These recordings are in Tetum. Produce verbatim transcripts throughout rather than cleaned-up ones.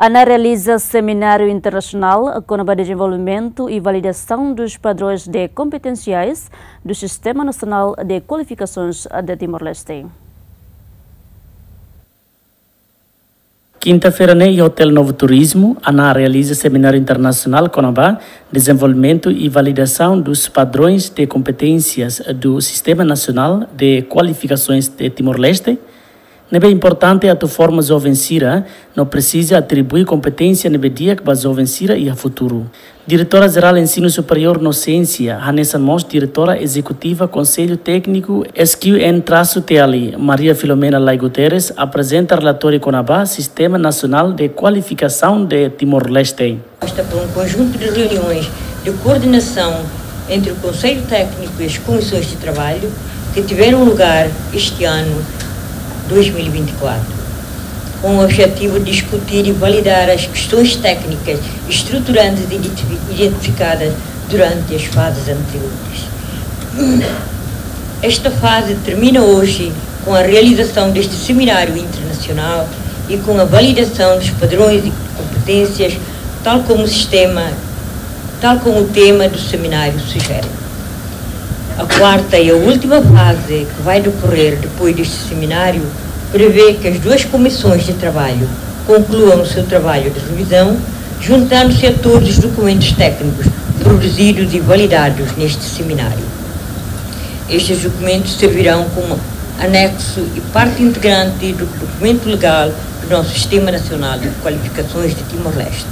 ANAR realiza semináriu internasionál kona-ba dezenvolvimentu e validasaun dos padrões de competenciais do Sistema Nacional de Qualificações de Timor-Leste. Kinta-feira ne'e, iha Hotel Novo Turismo, ANAR realiza semináriu internasionál kona-ba dezenvolvimentu e validasaun dos padrões de competências do Sistema Nacional de Qualificações de Timor-Leste, ne'ebé importante atu forma joven sira no presiza atribui kompeténsia ne'ebé di'ak ba joven sira iha futuru. Diretora Jerál Ensinu Superiór no Siénsia, hanesan mós Diretora Ezekutiva Konsellu Tékniku S Q N traço T L, Maria Filomena Lay Guterres, aprezenta relatóriu kona-ba Sistema Nasionál de Kualifikasaun de Timor-Leste. Esta foi um conjunto de reuniões de coordenação entre o Conselho Técnico e as comissões de trabalho que tiveram lugar este ano dois mil e vinte e quatro, com o objetivo de discutir e validar as questões técnicas estruturantes identi-, identificadas durante as fases anteriores. Esta fase termina hoje com a realização deste seminário internacional e com a validação dos padrões e competências, tal como o sistema, tal como o tema do seminário sugere. A quarta e a última fase, que vai decorrer depois deste seminário, prevê que as duas comissões de trabalho concluam o seu trabalho de revisão, juntando-se a todos os documentos técnicos produzidos e validados neste seminário. Estes documentos servirão como anexo e parte integrante do documento legal do nosso Sistema Nacional de Qualificações de Timor-Leste.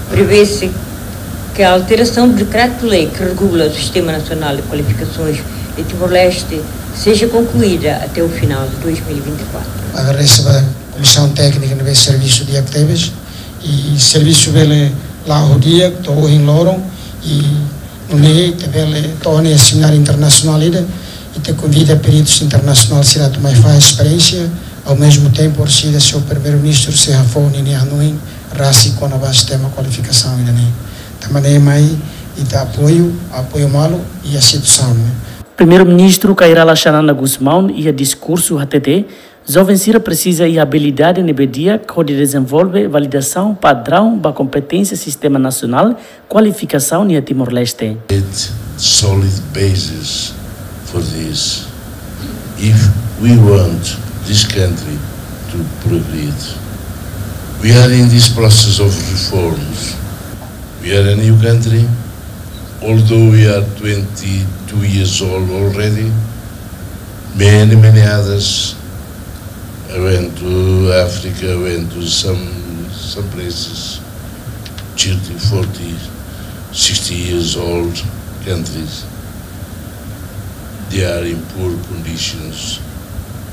Prevê-se que a alteração do decreto-lei que regula o Sistema Nacional de Qualificações de Timor-Leste seja concluída até o final de dois mil e vinte e quatro. Agradese ba Komisaun Téknika ne'ebé servisu di'ak tebes, i servisu bele la'o di'ak to'o ohin loron, i nune'e ita bele to'o iha semináriu internasionál ida, ita konvida peritus internasionál sira atu mai fahe esperiénsia, ao mesmo tempo orsida señór Primeiru-Ministru sei hafoun ninia hanoin rasik kona-ba sistema kualifikasaun ida-ne'e. Tanba ne'e mai ita apoiu, apoiu malu iha situasaun ne'e. Primeiru-Ministru Kay Rala Xanana Gusmão iha diskursu hatete, joven sira presiza iha abilidade ne'ebé di'ak hodi dezenvolve validasaun padraun ba kompeténsia Sistema Nasionál Kualifikasaun iha Timor-Leste. Solid basis for this. If we want this country to progress, we are in this process of reforms. We are a new country, although we are twenty-two years old already. Many, many others. I went to Africa, I went to some, some places, thirty, forty, sixty years old countries. They are in poor conditions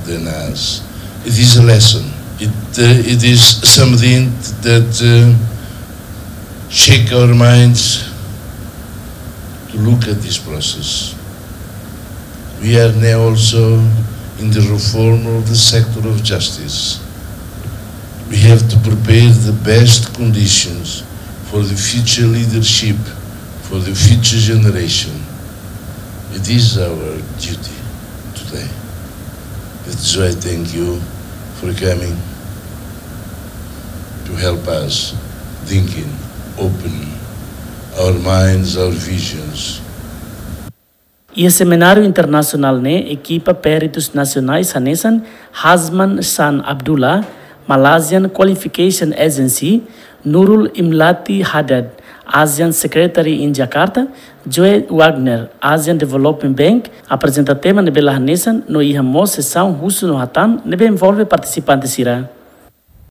than us. It is a lesson. It, uh, it is something that, uh, shake our minds to look at this process. We are now also in the reform of the sector of justice. We have to prepare the best conditions for the future leadership, for the future generation. It is our duty today. That is why I thank you for coming to help us thinking, open our minds, our visions. Iha semináriu internasionál ne'e, ekipa peritus nasionais hanesan Hasman San Abdullah, Malaysian Qualification Agency, Nurul Imlati Haddad, ASEAN Secretary in Jakarta, Joe Wagner, Asian Development Bank, aprezenta tema ne'ebé la hanesan no iha mós sesaun husu no hatán ne'ebé envolve partisipante sira.